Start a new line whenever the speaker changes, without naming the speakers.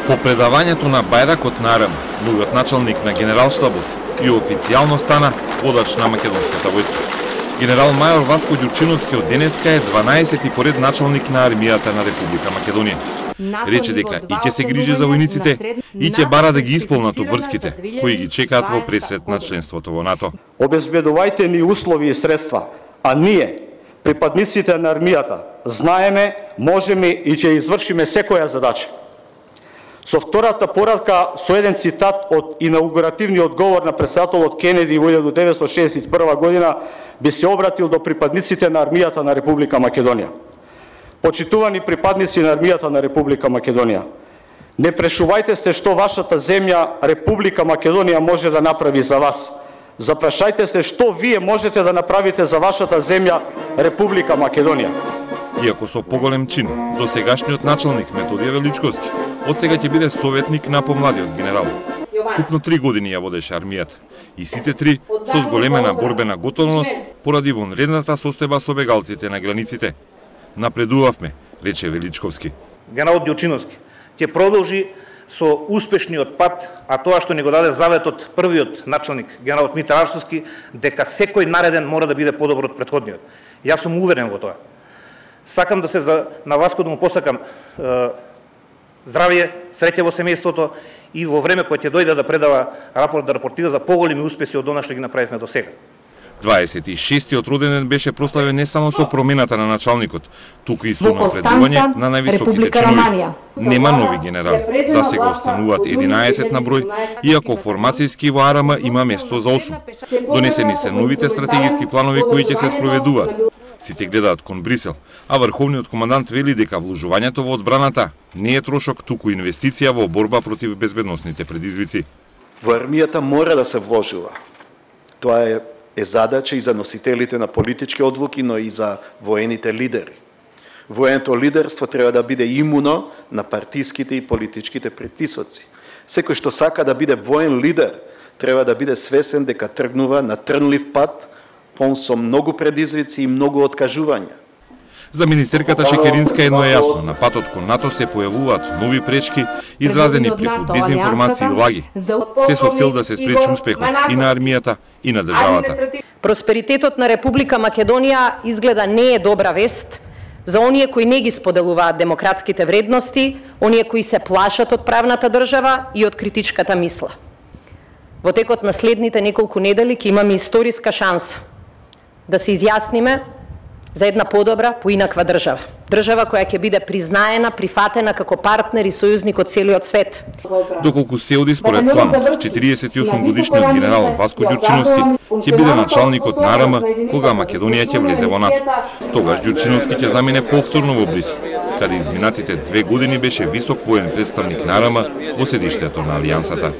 По предавањето на бајракот на РМ, новиот началник на генералштабот и официјално стана водач на македонската војска. Генерал мајор Васко Ѓурчиновски од денеска е 12-ти поред началник на армијата на Република Македонија. Рече дека и ќе се грижи за војниците и ќе бара да ги исполнат обврските кои ги чекаат во пресрет на членството во НАТО.
Обезбедувајте ни услови и средства, а ние, припадниците на армијата, знаеме, можеме и ќе извршиме секоја задача. Со втората порадка, со еден цитат од инаугуративниот говор на претседателот Кенеди во 1961 година, би се обратил до припадниците на армијата на Република Македонија. Почитувани припадници на армијата на Република Македонија, не прешувајте се што вашата земја Република Македонија може да направи за вас. Запрашајте се што вие можете да направите за вашата земја Република Македонија.
Иако со поголем чин, досегашниот началник Методије Величковски од сега ќе биде советник на помладиот генерал. Вкупно 3 години ја водеше армијата и сите 3 со зголемена борбена готовност поради вонредната состојба со бегалците на границите. Напредувавме, рече Величковски.
Генералот Ѓурчиновски ќе продолжи со успешниот пат, а тоа што ни го даде заветот првиот началник, генералот Митар Арсовски, дека секој нареден мора да биде подобро од претходниот. Јас сум уверен во тоа. Сакам да се на Васко да му посакам здравје, среќа во семејството и во време кое ќе дојде да предава рапорт, да рапортира за поголеми успеси од она што ги направивме до сега.
26-тиот роденден беше прославен не само со промената на началникот, туку и со напредување на највисоките чинови. Нема нови генерали, за сега остануваат 11 на број, иако формацијски во АРМ има место за 8. Донесени се новите стратегиски планови кои ќе се спроведуваат. Сите гледаат кон Брисел, а врховниот командант вели дека вложувањето во одбраната не е трошок, туку инвестиција во борба против безбедносните предизвици.
Во армијата мора да се вложува. Тоа е задача и за носителите на политички одлуки, но и за воените лидери. Военото лидерство треба да биде имуно на партиските и политичките притисоци. Секој што сака да биде воен лидер, треба да биде свесен дека тргнува на трнлив пат, пон со многу предизвици и многу откажувања.
За министерката Шекеринска едно е јасно, на патот кон НАТО се појавуваат нови пречки, изразени преку дезинформација и лаги, се со цел да се спречи успехот и на армијата и на државата.
Просперитетот на Република Македонија изгледа не е добра вест за оние кои не ги споделуваат демократските вредности, оние кои се плашат од правната држава и од критичката мисла. Во текот на следните неколку недели ќе имаме историска шанса да се изјасниме за една подобра, поинаква држава. Држава која ќе биде признаена, прифатена како партнер и сојузник од целиот свет.
Доколку се оди според планот, 48 годишниот генерал Васко Ѓурчиновски ќе биде началникот на АРМ кога Македонија ќе влезе во НАТО. Тогаш Ѓурчиновски ќе замине повторно во Брисел, каде изминатите 2 години беше висок воен представник на АРМ во седиштето на Алијансата.